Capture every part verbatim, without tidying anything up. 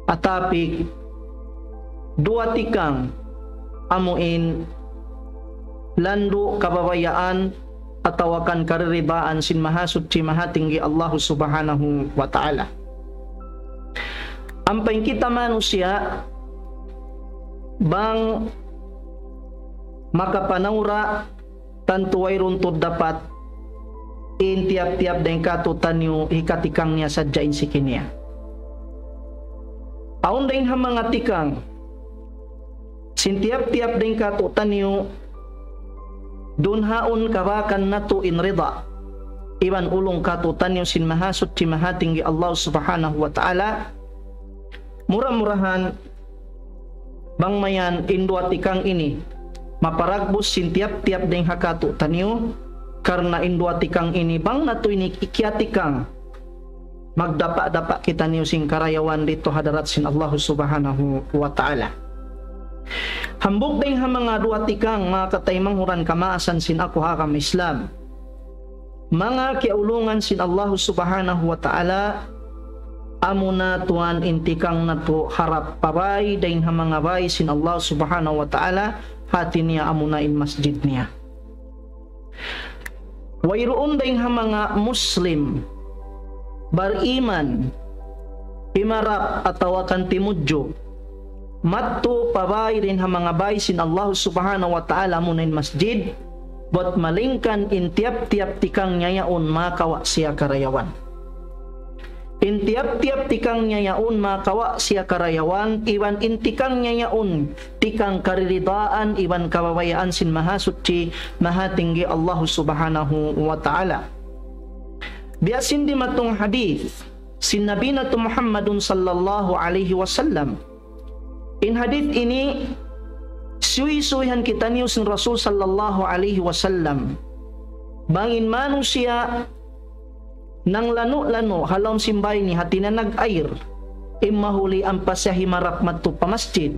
Atapi duwa tikang amuin landu' kababayaan atawa kan kariridaan sin Mahasuchi Mahatinggi Allahu Subhanahu wa Ta'ala. Ampa in kita manusiya' bang makapanawra tantu wayruun tuud dapat in tiyap-tiyap dayn kātu'niyu hikatikang niya sadja in siki niya. Awn dayn ha manga tikang sin tiyap-tiyap dayn kātu'niyu dunhaun kabakan natu' in rida iban ulung kātu'niyu sin Mahasuchi Mahatinggi Allah Subhanahu wa Ta'ala. Mura-murahan bang mayan in duwa tikang ini maparagbus sin tiyap-tiyap dayn ha kātu'niyu, karna' in duwa tikang ini bang natu' ini kiyatikang, magdapa'-dapa' kitaniyu sin karayawan didtu ha hadarat sin Allahu Subhanahu wa Ta'ala. Hambuuk dayn ha manga duwa tikang, manga kataymanghuran kamaasan sin aku ha agama Islam, manga kiyaulungan sin Allahu Subhanahu wa Ta'ala, amuna tuwan in tikang natu' harap pa bāy dayn ha manga bāy sin Allahu Subhanahu wa Ta'ala, hāti niya amuna in masjid niya. Wayruun dayn ha manga Muslim bariman himarap atawa kan timudju madtu pa bāy dayn ha manga bāy sin Allahu Subhanahu wa Ta'ala, amuna in masjid, bat malayngkan in tiyap-tiyap tikang niya yaun makawa' siya karayawan. In tiyap-tiyap tikang niya yaun makawa' siya karayawan, iban in tikang niya yaun tikang kariridaan iban kababayaan sin Mahasuchi Mahatinggi Allahu Subhanahu wa Ta'ala. Biya' sin dimatung hadith sin Nabi natu' Muhammadun sallallahu alayhi wasallam. In hadith ini suysuyan kitaniyu sin Rasul sallallahu alayhi wasallam. Bang in manusiya' nanglanu'-lanu' ha lawm sin bāy niya, hāti niya nag-air, in mahuli ampa siya himarap madtu pa masjid,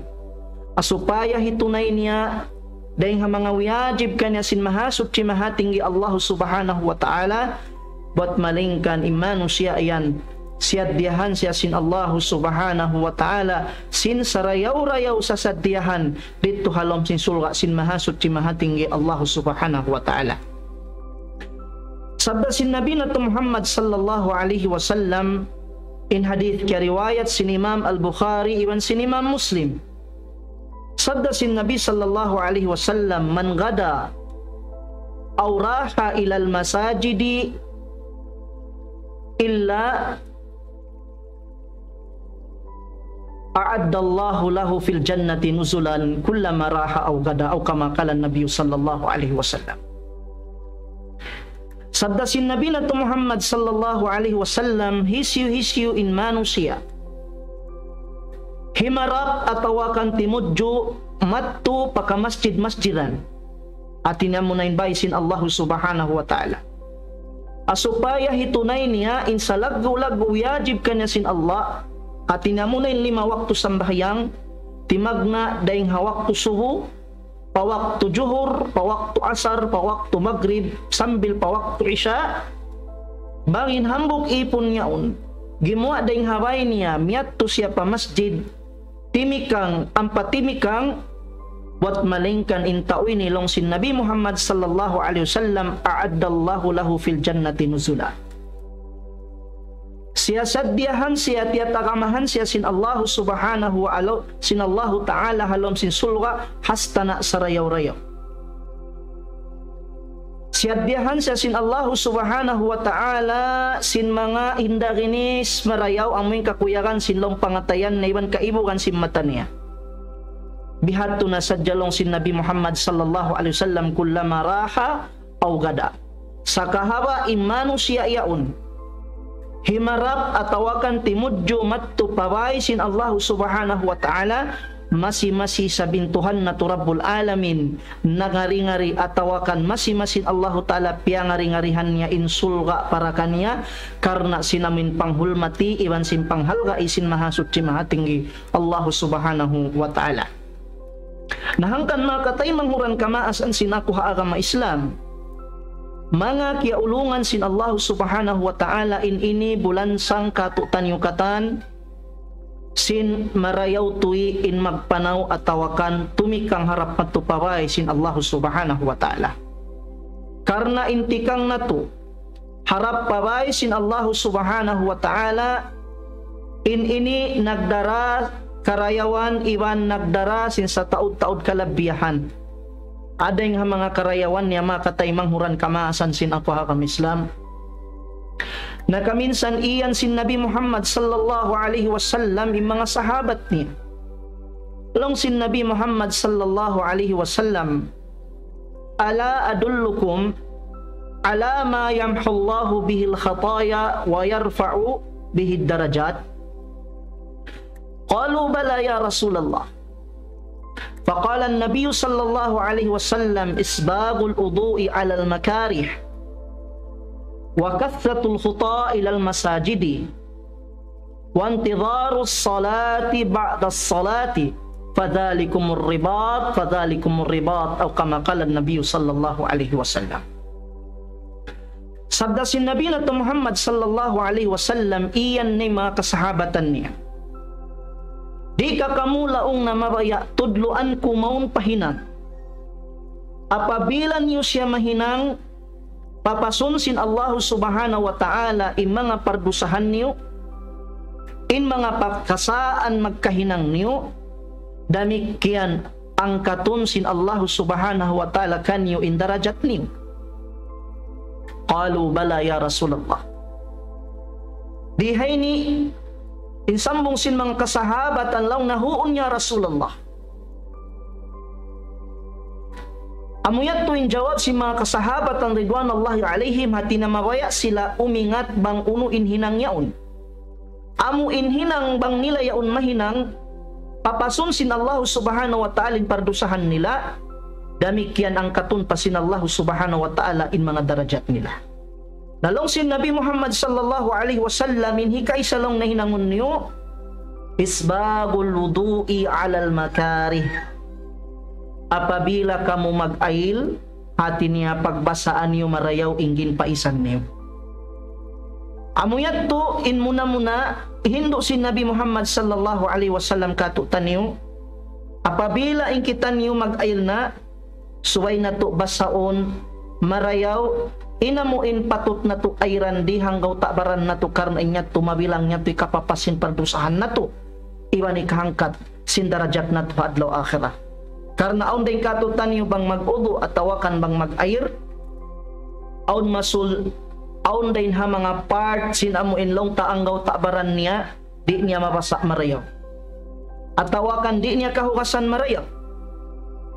supaya hitunay niya dayn ha manga wiyajib kaniya sin Mahasuchi Mahatinggi Allahu Subhanahu wa Ta'ala, bat malayngkan in manusiya' yan siyaddiyahan siya sin Allahu Subhanahu wa Ta'ala sin sarayaw-rayaw sasaddiyahan didtu ha lawm sin surga' sin Mahasuchi Mahatinggi Allahu Subhanahu wa Ta'ala. Sabda sin Nabi natu' Muhammad sallallahu alayhi wasallam, in hadith kiyariwayat sin Imam Al-Bukhari iban sin Imam Muslim. Sabda sin Nabi sallallahu alayhi wasallam, من غدا أو راح إلى المساجد إلا أعد الله له في الجنة نزلا كلما راح أو غدا، أو كما قال النبي صلى الله عليه وسلم. Sabda sin Nabi natu' Muhammad sallallahu alayhi wasallam, hisiyu-hisiyu in manusiya' himarap atawa kan timudju madtu pa kamasjid-masjidan, hāti niya amuna in bāy sin Allahu Subhanahu wa Ta'ala, supaya hitunay niya in salaggu'-laggu' wiyajib kaniya sin Allah, hāti niya amuna in lima waktu sambahayang, timagna' dayn ha waktu subu, pa waktu juhur, pa waktu asar, pa waktu magrib, sambil pa waktu isya. Bang in hambuuk īpun yaun gimuwa' dayn ha bāy niya, miyadtu siya pa masjid, timikang, ampa timikang, bat malayngkan in tau ini laung sin Nabi Muhammad sallallahu alayhi wasallam, أعد الله له في الجنة نزلا. Siyasaddiyahan siya, tiyatagamahan siya sin Allahu Subhanahu wa Ta'ala, sin Allahu Ta'ala ha lawm sin surga', hastana' sarayaw-rayaw. Siyaddiyahan siya sin Allahu Subhanahu wa Ta'ala sin manga hinda ginis marayaw, amuin kakuyagan sin lawm pangatayan niya iban kaibugan sin mata niya. Bihadtu na sadja laung sin Nabi Muhammad sallallahu alayhi wasallam, كلما راح أو غدا. Sakahaba' in manusiya' yaun himarap atawa kan timudju madtu pa bāy sin Allahu Subhanahu wa Ta'ala, masi-masi isab in Tuhan natu' Rabbul Alamin nangari-ngari atawa kan masi-masi in Allahu Ta'ala piyangari-ngarihan niya in surga' para kaniya, karna' sin amuin panghulmati iban sin panghalgai sin Mahasuchi Mahatinggi Allahu Subhanahu wa Ta'ala. Na hangkan manga kataymanghuran kamaasan sin aku ha agama Islam, manga kiyaulungan sin Allahu Subhanahu wa Ta'ala, in ini bulansang kātu'niyu katan, sin marayaw tuud in magpanaw atawa kan tumikang harap madtu pa bāy sin Allah Subhanahu wa Ta'ala. Karna' in tikang natu' harap pa bāy sin Allah Subhanahu wa Ta'ala, in ini nagdara karayawan iban nagdara sin sataud-taud kalabihan. Adayng ha manga karayawan niya, manga kataymanghuran kamaasan sin aku ha agama Islam. Nakaminsan iyan sin Nabi Muhammad sallallahu alayhi wasallam in manga sahabat niya. Laung sin Nabi Muhammad sallallahu alayhi wasallam, ألا أدلكم على ما يمحو الله به الخطايا ويرفع به الدرجات؟ قالوا بلى يا رسول الله. فقال النبي صلى الله عليه وسلم: إسباغ الوضوء على المكاره، وكثرة الخطى إلى المساجد، وانتظار الصلاة بعد الصلاة، فذلكم الرباط، فذلكم الرباط، أو كما قال النبي صلى الله عليه وسلم. Sabda sin Nabi natu' Muhammad sallallahu alayhi wasallam, iyan in manga kasahabatan niya. Di' ka kamu laung niya mabaya' tudluan ku mawn pa hinang? Apabila niyu siya mahinang, papasun sin Allah Subhanahu wa Ta'ala in manga pardusahan niyu, in manga pakasaan magkahinang niyu, damikkiyan angkatun sin Allah Subhanahu wa Ta'ala kaniyu in darajat niyu. قالوا بلى يا رسول الله. Di ha ini, in sambung sin manga kasahabatan laung niya, huun ya Rasulullah. Amu yadtu in jawab sin manga kasahabatan ridwanullahi alayhim, hāti niya mabaya' sila umingat bang unu in hinang yaun. Amu in hinang bang nila yaun mahinang, papasun sin Allah Subhanahu wa Ta'ala in pardusahan nila, damikkiyan angkatun pa sin Allah Subhanahu wa Ta'ala in manga darajat nila. Na laung sin Nabi Muhammad sallallahu alayhi wasallam, in hikaisa laung niya hinangun niyu, إسباغ الوضوء على المكاره. Apabila kamu mag-ayil, hāti niya pagbasaan niyu marayaw in ginpaisan niyu. Amu yadtu in muna-muna hindu' sin Nabi Muhammad sallallahu alayhi wasallam kātu'niyu, apabila in kitaniyu mag-ayil na, subay natu' basaun marayaw, in amu in patut natu' ayiran di' ha anggawta' baran natu', karna' in yadtu mabilang yadtu hikapapas sin pardusahan natu', iban hikahangkat sin darajat natu' ha adlaw akhirat. Karna' awn dayn kātu'niyu bang mag-udu' atawa kan bang mag-ayil, awn masul, awn dayn ha manga part sin amu in laung ta anggawta' baran niya, di' niya mabasa' marayaw. Atawa kan di' niya kahugasan marayaw.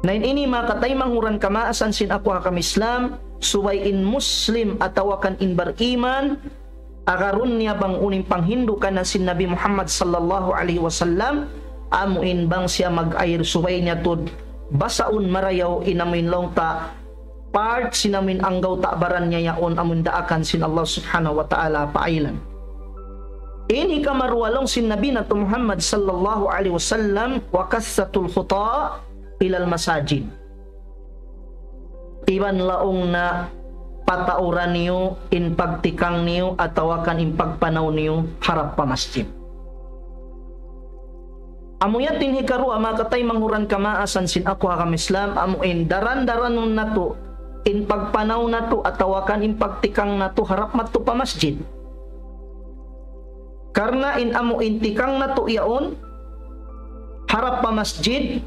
Na in ini manga kataymanghuran kamaasan sin aku ha agama Islam, subay in Muslim atawa kan in bariman, agarun niya bang unu in panghindu' kaniya sin Nabi Muhammad sallallahu alayhi wasallam, amu in bang siya mag-ayil subay niya tuud basaun marayaw in amu in laung ta part sin amu in anggawta' baran niya yaun amu in daakan sin Allah Subhanahu wa Ta'ala paayilan. In hikaruwa laung sin Nabi natu' Muhammad sallallahu alayhi wasallam, وكثرة الخطى إلى المساجد. Iban laung niya patauran niyu in pagtikang niyu atawa kan in pagpanaw niyu harap pa masjid. Amu yadtu in hikaruwa manga kataymanghuran kamaasan sin aku ha agama Islam, amu in daran-daranun natu' in pagpanaw natu' atawa kan in pagtikang natu' harap madtu pa masjid. Karna' in amu in tikang natu' yaun harap pa masjid,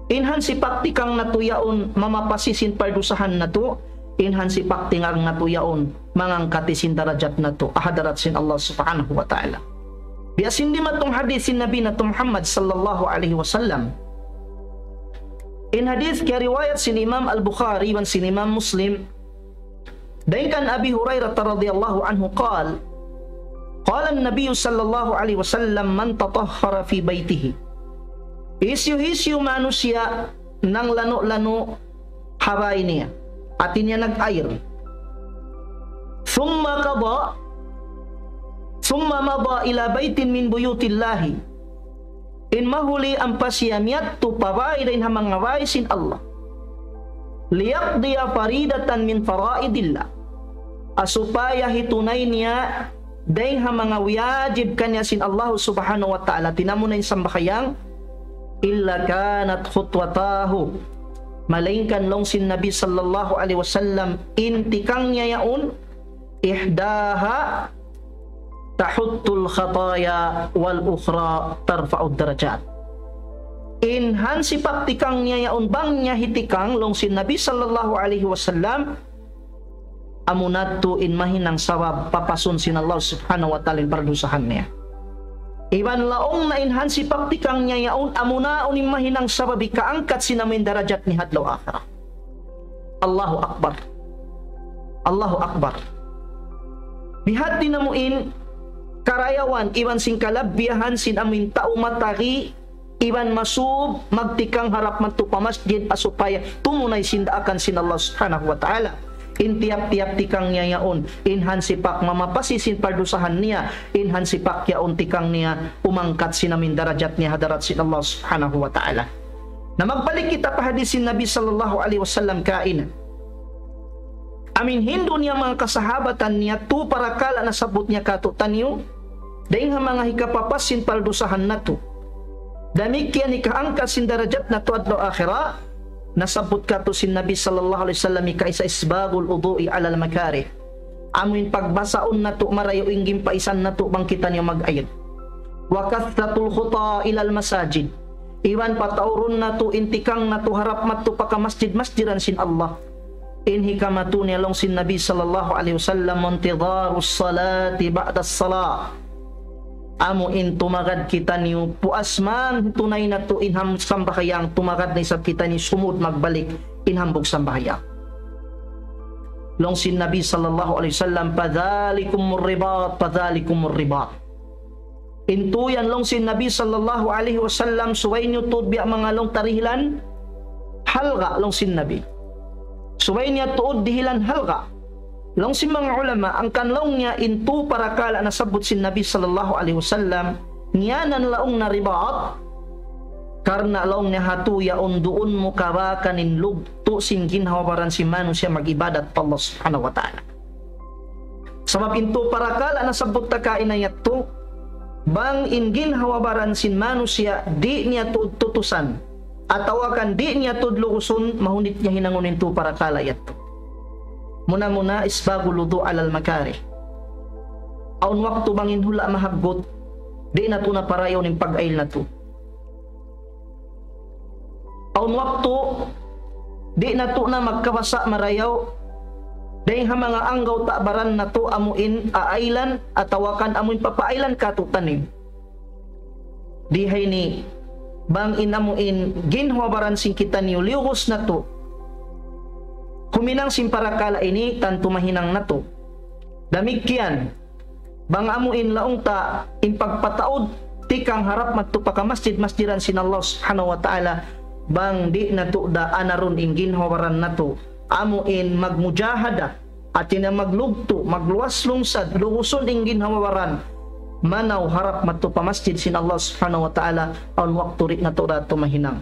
in hansipak tikang natu' yaun mamapasi sin pardusahan natu', in hansipak tikang natu' yaun mangangkat sin darajat natu' ha hadarat sin Allah Subhanahu wa Ta'ala. Biya' sin dimatung hadith sin Nabi natu' Muhammad sallallahu alayhi wasallam. In hadith kiyariwayat sin Imam Al-Bukhari iban sin Imam Muslim, dayn kan Abi Hurairah radiyallahu anhu قال: قال النبي صلى الله عليه وسلم: من تطهر في بيته. Hisiyu-hisiyu manusiya' nanglanu'-lanu' ha bāy niya, hāti niya nag-ayil. ثم قضى، ثم مضى إلى بيت من بيوت الله. In mahuli ampa siya miyadtu pa bāy dayn ha manga bāy sin Allah. ليقضي فريضة من فرائض الله. Ha supaya hitunay niya Dayng ha manga wiyajib kaniya sin Allah subhanahu wa ta'ala, tinamuna in sambahayang, إلا كانت خطوتاه. Malaingkan laung sin Nabi sallallahu alayhi wasallam, in tikang niya yaun, إحداها تحط الخطايا والأخرى ترفع الدرجات. In hansipak tikang niya yaun bang niya hitikang laung sin Nabi sallallahu alayhi wasallam, amu na tuud in mahinang sabab papasun sin Allah subhanahu wa ta'ala in pardusahan niya. Iban laung na in hansipak tikang niya yaun amu na in mahinang sabab hikaangkat sin amu in darajat niya ha adlaw akhirat. Allahu Akbar. Allahu Akbar. Bihadtu na amu in karayawan iban sin kalabbiyahan sin amu in tau matagi iban masub magtikang harap madtu pa masjid ha supaya tumunay sin daakan sin Allah subhanahu wa ta'ala. In tiyap-tiyap tikang niya yaun, in hansipak mamapasi sin pardusahan niya, in hansipak yaun tikang niya umangkat sin amu in darajat niya ha hadarat sin Allah subhanahu wa ta'ala. Na magbalik kita pa hadis sin Nabi sallallahu alayhi wasallam kaina. Amu in hindu' niya manga kasahabatan niya, tū parakala' nasabbut niya kātu'niyu, dayng ha manga hikapapas sin pardusahan natu'. Damikkiyan hikaangkat sin darajat natu' adlaw akhirat, nasabbut kātu' sin Nabi sallallahu alayhi wasallam hikaisa إسباغ الوضوء على المكاره. Amu in pagbasaun natu' marayaw in gimpaisan natu' bang kitaniyu mag-ayil. وكثرة الخطى إلى المساجد. Iban pataurun natu' in tikang natu' harap madtu pa kamasjid-masjidan sin Allah. In hikamatu niya laung sin Nabi sallallahu alayhi wasallam, وانتظار الصلاة بعد الصلاة. Amu in tumagad kitaniyu, puas man tunay natu' in ham-, sambahayang, tumagad na isab kitaniyu sumud magbalik in hambuuk sambahayang. Laung sin Nabi sallallahu alayhi wasallam, فذلكم الرباط، فذلكم الرباط. In tuud yan laung sin Nabi sallallahu alayhi wasallam, subay niyu tuud biya' manga laung ta dihilan halga' laung sin Nabi. Subay niya tuud dihilan halga'. Laung sin manga ulama, hangkan laung niya in tū parakala' nasabbut sin Nabi sallallahu alayhi wasallam, ngiyanan laung na ribat, karna' laung niya hātu yaun duun mu kabakan in lugtu' sin ginhawa-baran sin manusiya' mag-ibadat pa Allah subhanahu wa ta'ala. Sabab in tū parakala' nasabbut ta kaina yadtu, bang in ginhawa-baran sin manusiya' di' niya tuud tutusan, atawa kan di' niya tuud lugusun, mahunit niya hinangun in tū parakala' yadtu. Muna-muna, إسباغ الوضوء على المكاره. Awn waktu bang in hula' mahaggut, di' natu' na parayawun in pag-ayil natu'. Awn waktu, di' natu' na magkabasa' marayaw, dayng ha manga anggawta' baran natu' amu in aailan atawa kan amu in papaailan kātu'niyu. Di ha ini, bang in amu in ginhawa-baran sin kitaniyu liyugus natu', huminang sin parakala' ini, tantu mahinang natu'. Damikkiyan, bang amu in laung ta in pagpataud tikang harap madtu pa kamasjid-masjidan sin Allah subhanahu wa ta'ala, bang di' natu' da anarun in ginhawa-baran natu', amu in magmujahada, hāti niya maglugtu', magluwas lungsad, lugusun in ginhawa-baran, manaw harap madtu pa masjid sin Allah subhanahu wa ta'ala, awn waktu di' natu' da tuud mahinang.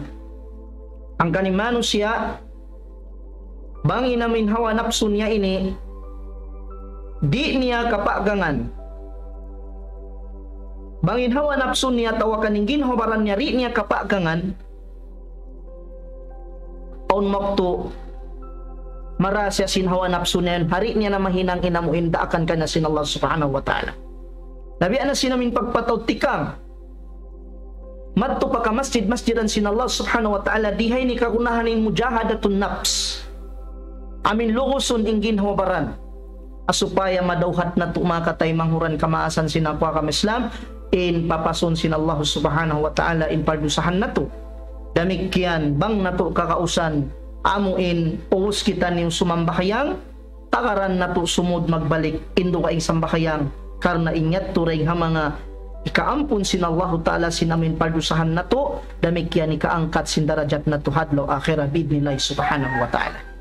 Hangkan in manusiya', bang in amu in hawa napsu niya ini, di' niya kapagangan. Bang in hawa napsu niya atawa kan in ginhawa-baran niya, di' niya kapagangan, awn waktu marā siya sin hawa napsu niya, di' niya na mahinang in amu in daakan kaniya sin Allah subhanahu wa ta'ala. Na biya' na sin amu in pagpataud tikang madtu pa kamasjid-masjidan sin Allah subhanahu wa ta'ala, di ha ini kagunahan in mujahadatun nafs. Amu in lugusun in ginhawa-baran. Ha supaya madawhat natu' manga kataymanghuran kamaasan sin aku ha agama Islam, in papasun sin Allah subhanahu wa ta'ala in pardusahan natu'. Damikkiyan bang natu' kagausan, amu in ubus kitaniyu sumambahayang, tagaran natu' sumud magbalik in dugaing sambahayang, karna' in yadtu dayng ha manga hikaampun sin Allahu ta'ala sin amu in pardusahan natu', damikkiyan hikaangkat sin darajat natu' ha adlaw akhirat bi'idhnillahi subhanahu wa ta'ala.